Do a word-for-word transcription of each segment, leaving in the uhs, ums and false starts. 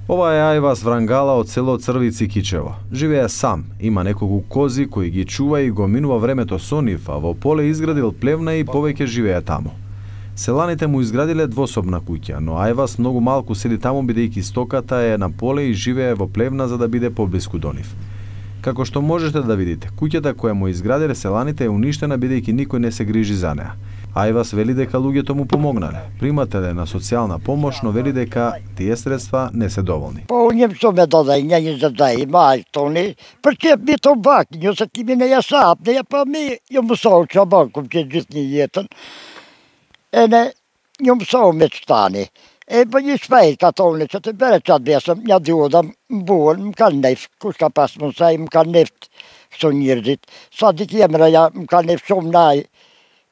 Ова е Ајвас Врангала од село Црвици Кичево. Живее сам, има неколку кози кои ги чува и го минува времето со нив, а во поле изградил плевна и повеќе живее таму. Селаните му изградиле двособна куќа, но Ајвас многу малку седи таму бидејќи стоката е на поле и живее во плевна за да биде поблиску до нив. Како што можете да видите, куќата која му изградиле селаните е уништена бидејќи никој не се грижи за неа. Ајвас вели дека луѓето му помогнале. Примателе на социјална помош, но вели дека тие средства не се доволни. По нjem што ме додај, не ни задај, мајстони, прке би то бакињо, са ти ми не ја сапне, па ми јом соуча банком ќе джитни јетен. Ене, јом соумет стани. Е, па ни спај католницата, бере чад бесам, ја дјодам, буон, мкал нефт, куска пасмон сај, мкал нефт, што нирдит. Садик јемра ја, мкал нефт, шом нај,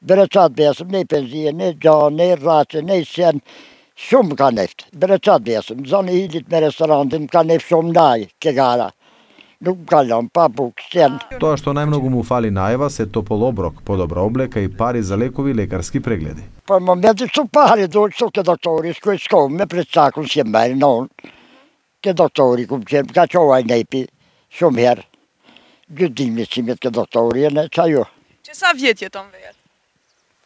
бере чад бесам, не пензија, не джа, не раче, не сен, шум мкал нефт, бере чад бесам, зани хилит ме ресторантин, мкал нефт, шом нај, кегара. Галам, папук, сен. Тоа што најмногу му фали на Ајвас е топол оброк, подобра облека и пари за лекови и лекарски прегледи. Па моменти што пари дојде со ке доктори, с кој ском ме предсакам си мери, но ке доктори кум че, ка човај нејпи, шум хер. Години си ме ке доктори, не чају. Че са вјет јетон вејат?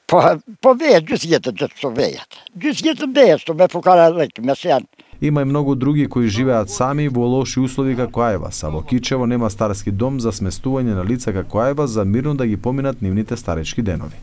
Па, па вејат, джус јетен, джус што вејат. Джус јетен вејат, што ме покара лек, ме сен. Има и многу други кои живеат сами во лоши услови како Ајвас, а во Кичево нема старски дом за сместување на лица како Ајвас за мирно да ги поминат нивните старечки денови.